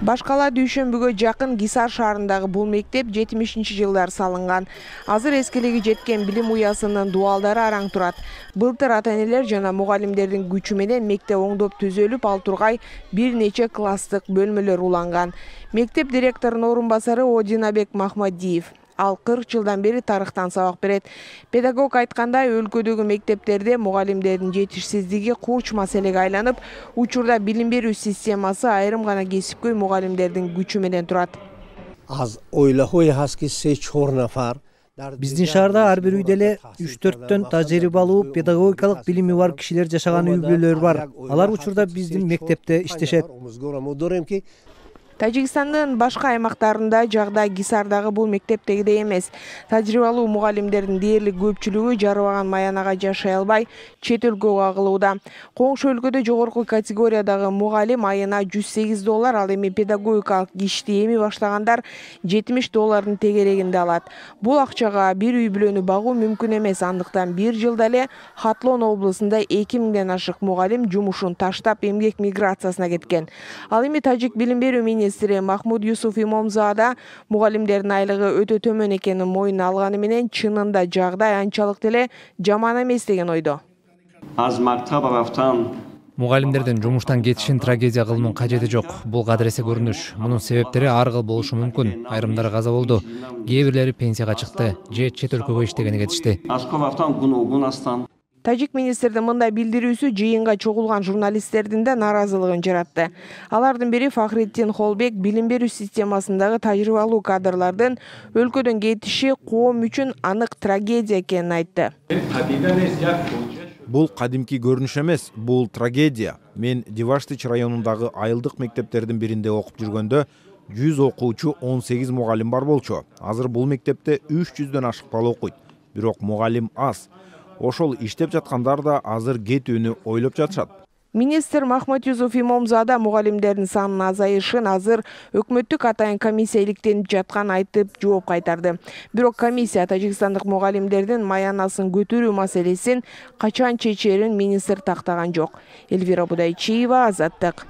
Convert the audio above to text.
Башкала дүйшөмбүгө жакын Гисар шаарындагы бул мектеп 70-жылдар салынган. Азыр эскилиги жеткен билим уясынын дуалдары араң турат. Былтыр ата-энелер жана мугалимдердин күчү менен мектеп оңдоп түзөлүп ал тургай бир нече класстык бөлмөлөр уланган. Мектеп директорунун орун басары Одинабек Махмадиев. Ал 40 жылдан бери тарыхтан сабак берет. Педагог айткандай, өлкөдөгү мектептерде мугалимдердин жетишсиздиги курч маселеге айланып, учурда билим берүү системасы айрым гана кесипкөй мугалимдердин күчү менен турат. Биздин шаарда ар бир үйдө эле 3-4төн тажрыйбалуу педагогикалык билими бар кишилер жашаган үй бүлөлөр бар. Алар учурда биздин мектепте иштешет. Тажикстандын башка аймактарында жагдай Гисардагы бул мектептегидей эмес. Тажрыйбалуу мугалимдердин дээрлик көпчүлүгү жарыбаган Маянага жашай албай, чет өлкөгө агылууда. Коңшу өлкөдө жогорку категориядагы мугалим айына $108, ал эми педагогикалык ишти эми баштагандар $70 тегерегинде алат. Бул акчага бир үй бүлөнү багуу мүмкүн эмес, андыктан бир жылда эле Хатлон облусунда 2000ден ашык мугалим жумушун таштап эмгек миграциясына кеткен. Ал эми тажик билим берүү министри Махмуд Юсуф Имомзада мугалимдердин айлыгы өтө төмөн экенин мойнуна алганы менен чынында жагдай анчалык деле жаман эмес деген ойдо. Мугалимдердин жумуштан кетишин трагедия кылуунун кажети жок. Бул кадыресе көрүнүш. Мунун себептери ар кыл болушу мүмкүн. Айрымдары каза болду. Кээ бирлери пенсияга чыкты же чет өлкөгө иштегени кетишти. Тажик министрдин мындай билдирүүсү жыйынга чогулган журналисттердин да нааразылыгын жаратты. Алардын бири Фахриддин Холбек билим берүү системасындагы тажрыйбалуу кадрлардын өлкөдөн кетиши коом үчүн анык трагедия экенин айтты. Бул кадимки көрүнүш эмес, бул трагедия. Мен Диваштич районундагы айылдык мектептердин биринде окуп жүргөндө 100 окуучу 18 мугалим бар болчу. Азыр бул мектепте 300дөн ашык бала окуйт. Бирок мугалим аз. Ошол иштеп жаткандар да азыр кетүүнү ойлоп жатышат. Министр Махмуд Юсуф Имомзада мугалимдердин санынын азайышын азыр өкмөттүк атайын комиссия иликтенип жатканын айтып жооп кайтарды. Бирок комиссия тажикстандык мугалимдердин маянасын көтөрүү маселесин качан чечерин министр тактаган жок. Эльвира Будайчиева, Азаттык.